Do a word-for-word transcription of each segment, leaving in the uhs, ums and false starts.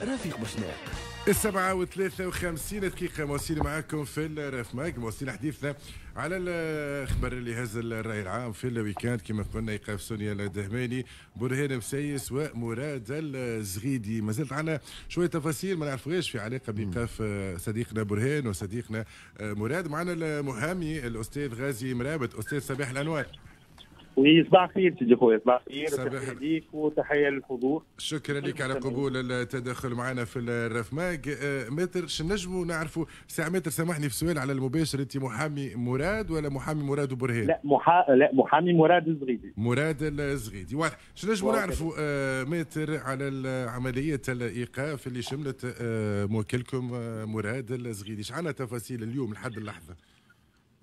رفيق بوشناق. السبعة وثلاثة وخمسين دقيقة مواصلين معاكم في ال Raf Mag، مواصلين حديثنا على الخبر اللي هز الرأي العام في ال week-end كما قلنا، إيقاف سونيا الدهماني، برهان مسيس ومراد الزغيدي. ما زلت عندنا شوية تفاصيل ما نعرفوهاش في علاقة بإيقاف صديقنا برهان وصديقنا مراد. معنا المحامي الأستاذ غازي مرابط. أستاذ، صباح الأنوار. oui، صباح الخير سيدي خويا، صباح الخير، تحية ليك وتحية للحضور. شكرا لك على قبول التدخل معنا في ال Raf Mag. آه، maître، شنو نجموا نعرفوا ساعة؟ maître، سامحني في السؤال على المباشر، انت محامي مراد ولا محامي مراد وبرهان؟ لا محا... لا، محامي مراد الزغيدي. مراد الزغيدي، واضح. شنو نجموا نعرفوا آه، maître على عملية الإيقاف اللي شملت آه، موكلكم مراد الزغيدي؟ ايش عندنا تفاصيل اليوم لحد اللحظة؟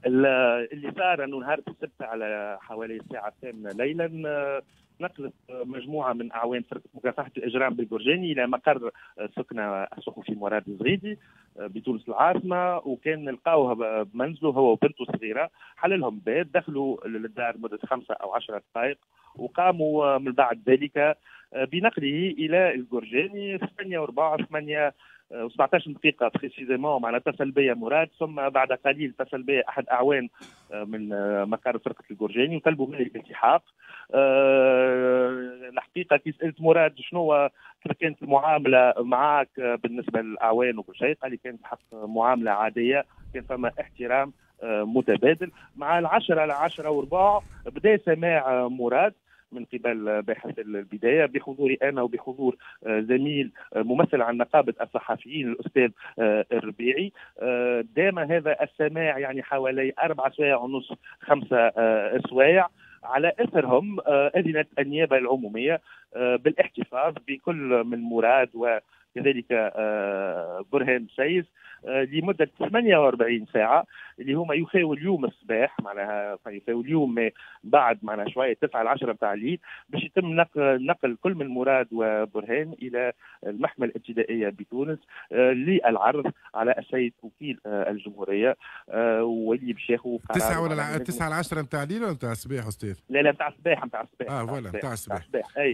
اللي صار انه نهار السبت على حوالي الساعة الثامنة ليلا آه، نقلت مجموعة من اعوان فرقه مكافحة الاجرام بالقرجاني الى مقر سكنه الصحفي مراد الزغيدي آه، بتونس العاصمه، وكان لقاوه بمنزلة هو وبنته الصغيره. حل لهم باب، دخلوا للدار مده خمسة او عشرة دقائق وقاموا من بعد ذلك آه، بنقله الى القرجاني. ثمانية وربع، ثمانية وسبعطاش دقيقة précisément معناها اتصل بي مراد، ثم بعد قليل اتصل بي أحد أعوان آه، من آه، مقر فرقة القرجاني وطلبوا مني الالتحاق. آه، الحقيقة كي سألت مراد شنو كانت المعاملة معك بالنسبة للأعوان وكل شيء، قال لي كانت حق معاملة عادية، كان فما احترام متبادل. مع العشرة العشرة وربع بدا سماع مراد من قبل باحث البداية بحضوري انا وبحضور آه، زميل آه، ممثل عن نقابة الصحفيين الاستاذ آه، الربيعي. دام هذا السماع يعني حوالي اربع سوايع ونص، خمسة سوايع. على اثرهم اذنت النيابة العمومية بالاحتفاظ بكل من مراد وكذلك برهان مسيس لمدة ثمانية وأربعين ساعة اللي هما يوفاو اليوم الصباح، معناها يوفاو اليوم بعد معناها شوية تسعة ل عشرة نتاع الليل، باش يتم نقل, نقل كل من مراد وبرهان الى المحكمة الابتدائية بتونس آه، للعرض على السيد وكيل آه، الجمهورية آه، واللي باش ياخذ قرار. تسعة ولا تسعة ل عشرة نتاع الليل ولا نتاع الصباح استاذ؟ لا لا، نتاع الصباح، نتاع الصباح. اه voilà، نتاع الصباح.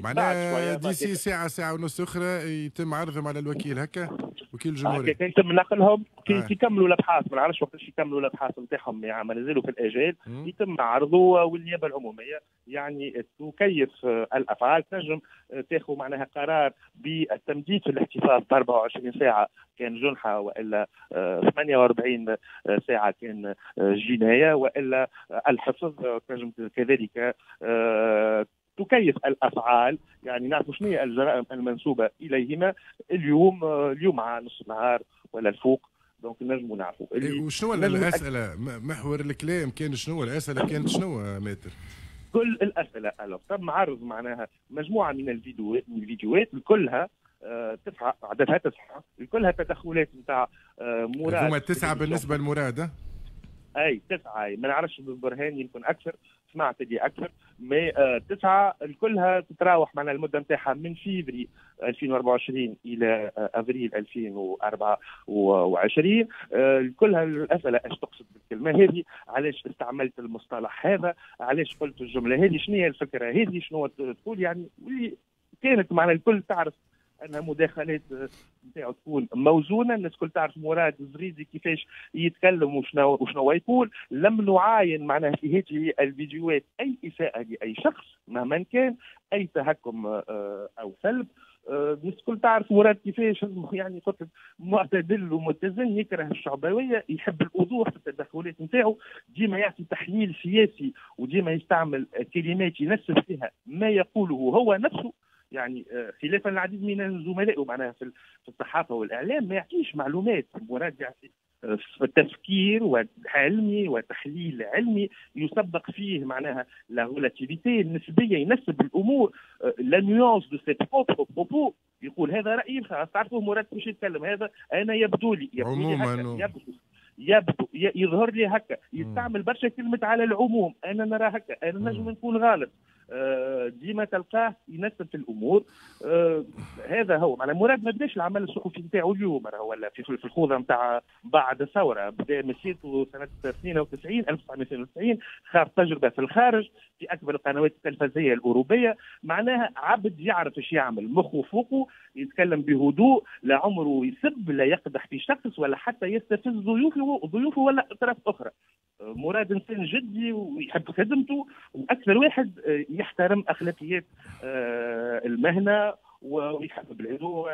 معناها d'ici ساعه، ساعة ونص اخرى يتم عرضهم على الوكيل هكا، وكيل الجمهوريه. كي يتم نقلهم، كي آه. يكملوا الابحاث، ما نعرفش وقتاش يكملوا الابحاث نتاعهم، يعني ما نزلوا في الاجال، يتم عرضه والنيابه العمومية يعني تكيف الافعال، تنجم تاخذ معناها قرار بالتمديد في الاحتفاظ ب أربعة وعشرين ساعة كان جنحه، والا ثمانية وأربعين ساعة كان جنايه، والا الحفظ. تنجم كذلك آه، تكيف الافعال، يعني نعرف شنو هي الجرائم المنسوبة اليهما اليوم اليوم على نص النهار ولا الفوق، donc نجموا نعرفوا. إيه، وشنو الاسئله؟ محور الكلام كان شنو؟ الاسئلة كانت شنو maître؟ كل الاسئله، alors تم عرض معناها مجموعة من الفيديوهات من الفيديوهات كلها آه، تسعه، عددها تسعه، كلها تدخلات نتاع آه، مراد. هما تسعة بالنسبة لمراد؟ اي تسعه، ما نعرفش برهان يمكن اكثر، سمعت اللي اكثر، mais آه تسعه كلها تتراوح معنا المدة نتاعها من فيفري ألفين وأربعة وعشرين الى آه افريل ألفين وأربعة وعشرين. آه كلها الاسئله: ايش تقصد بالكلمة هذه؟ علاش استعملت المصطلح هذا؟ علاش قلت الجملة هذه؟ شنو هي الفكرة هذه؟ شنو تقول؟ يعني كانت معنا الكل تعرف انها مداخلات نتاعو تكون موزونه. الناس الكل تعرف مراد الزغيدي كيفاش يتكلم وشنو وشنو يقول. لم نعاين معناها في هذه الفيديوهات اي اساءه لاي شخص مهما كان، اي تهكم آه، او سلب. آه، الناس الكل تعرف مراد كيفاش، يعني قلت معتدل ومتزن، يكره الشعبويه، يحب الوضوح في التدخلات نتاعو، ديما يعطي تحليل سياسي وديما يستعمل كلمات ينسب فيها ما يقوله هو نفسه، يعني آه، خلافا العديد من زملائه معناها في الصحافة والاعلام ما يعطيش معلومات. مراد يعطي آه، تفكير علمي وتحليل علمي يسبق فيه معناها la relativité النسبيه، ينسب الامور، la nuance de ses propres propos، يقول هذا رايي الخاص. تعرفوا مراد كيفاش يتكلم: هذا انا يبدو لي، يبدو لي هكا، يبدو يبدو يظهر لي هكا. يستعمل برشا كلمة على العموم، انا نرى هكا، انا نجم نكون غلط. ديما تلقاه ينسب في الامور. آه هذا هو معناها مراد ما بداش العمل الصحفي نتاعو اليوم ولا في في الخوضه نتاع بعد الثورة، بدا مسيرته سنة اثنين وتسعين ألف وتسعمائة واثنين وتسعين، خاض تجربه في الخارج في اكبر القنوات التلفزيه الاوروبية. معناها عبد يعرف ايش يعمل، مخه فوقه، يتكلم بهدوء، لا عمره يسب، لا يقدح في شخص ولا حتى يستفز ضيوفه ضيوفه ولا اطراف اخرى. مراد انسان جدي ويحب خدمته، واكثر واحد يحترم اخلاقيات المهنة ويحب بلاده.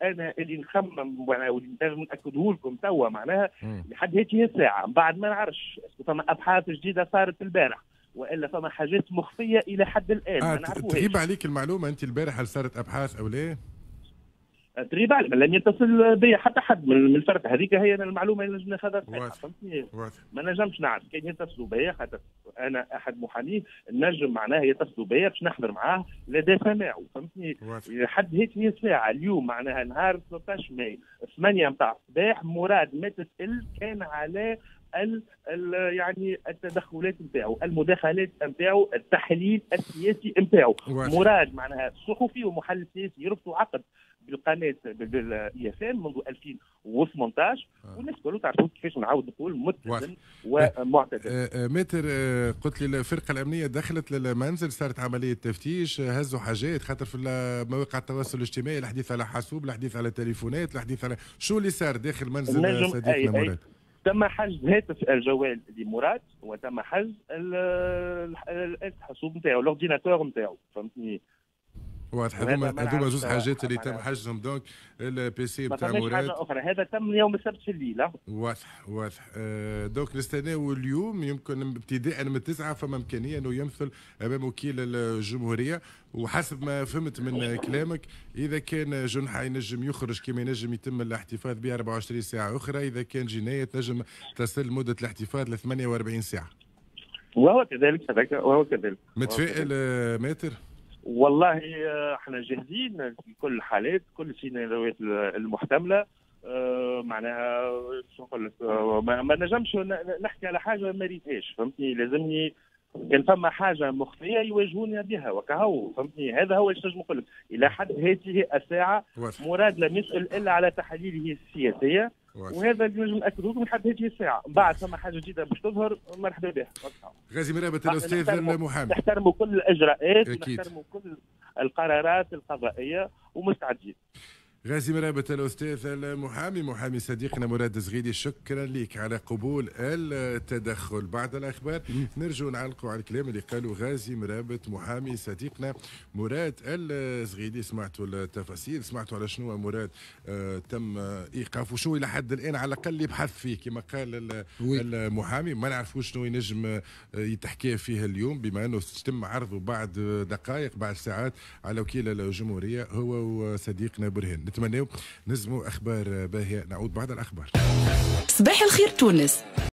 انا اللي نخمم واللي لازم ناكده لكم توا معناها لحد هذه الساعة، بعد ما نعرفش فما ابحاث جديدة صارت البارح والا فما حاجات مخفية الى حد الان. آه ما نعرفوهاش. تغيب عليك المعلومة انت البارح هل صارت ابحاث او لا؟ تغيب علي، لم يتصل بي حتى حد من الفرقة هذيك، هي المعلومة اللي نجم ناخذها صحيحه، فهمتني؟ ما نجمش نعرف كان يتصلوا بي، خاطر انا احد محاميه نجم معناها يتصلوا بي باش نحضر معاه لدى سماعه، فهمتني؟ لحد هذه الساعة اليوم معناها نهار ثلاثة عشر ماي ثمانية نتاع الصباح مراد ما تسال كان على ال ال يعني التدخلات نتاعو، المداخلات نتاعو، التحليل السياسي نتاعو. مراد معناها صحفي ومحلل سياسي يربطوا عقد بالقناة بال IFM منذ ألفين وثمانية عشر، والناس كلها تعرفوا كيفاش نعاود نقول متزن ومعتدل. ماتر، قلت لي الفرقة الامنية دخلت للمنزل، صارت عملية تفتيش، هزوا حاجات، خاطر في مواقع التواصل الاجتماعي الحديث على حاسوب، الحديث على تليفونات، الحديث على شو اللي صار داخل منزل صديقنا مراد؟ تم حجز هاتف الجوال لمراد وتم حجز الحاسوب نتاعو، l'ordinateur نتاعو، فهمتني؟ واضح. هذوما هذوما زوج حاجات اللي تم حجزهم، donc ال PC نتاع مراد. حاجة اخرى، هذا تم يوم السبت في الليل. واضح واضح. آه donc نستناو اليوم يمكن ابتداء من التسعة فما امكانية انه يمثل امام وكيل الجمهورية، وحسب ما فهمت من كلامك اذا كان جنحه ينجم يخرج كما ينجم يتم الاحتفاظ به أربعة وعشرين ساعة اخرى، اذا كان جناية تنجم تصل مده الاحتفاظ ل ثمانية وأربعين ساعة. وهو كذلك وهو كذلك. متفائل ماتر؟ والله احنا جاهزين في كل الحالات، كل السيناريوهات المحتملة. اه معناها شو نقول لك، ما نجمش نحكي على حاجة ما ريتهاش، فهمتني؟ لازمني كان فما حاجة مخفية يواجهوني بها وكهو، فهمتني؟ هذا هو اللي نجم نقول لك الى حد هذه الساعة. واضح. مراد لم يسال الا على تحاليله السياسية. واضح. وهذا اللي نجم ناكده لكم لحد هذه الساعة. بعد فما حاجة جديدة باش تظهر مرحبا بها. غازي مرابط الاستاذ المحامي، نحترموا كل الاجراءات ونحترموا كل القرارات القضائية ومستعدين. غازي مرابط الأستاذ المحامي، محامي صديقنا مراد الزغيدي، شكرا لك على قبول التدخل. بعد الأخبار نرجو نعلقوا على الكلام اللي قالوا غازي مرابط محامي صديقنا مراد الزغيدي. سمعتوا التفاصيل، سمعتوا على شنو مراد آه تم إيقافه، شنو إلى حد الآن على الأقل يبحث فيه كما قال المحامي. ما نعرفوش شنو ينجم يتحكي فيه اليوم بما أنه تم عرضه بعد دقائق بعد ساعات على وكيل الجمهورية هو وصديقنا برهان. نتمناو نزموا اخبار باهيه. نعود بعد الاخبار. صباح الخير تونس.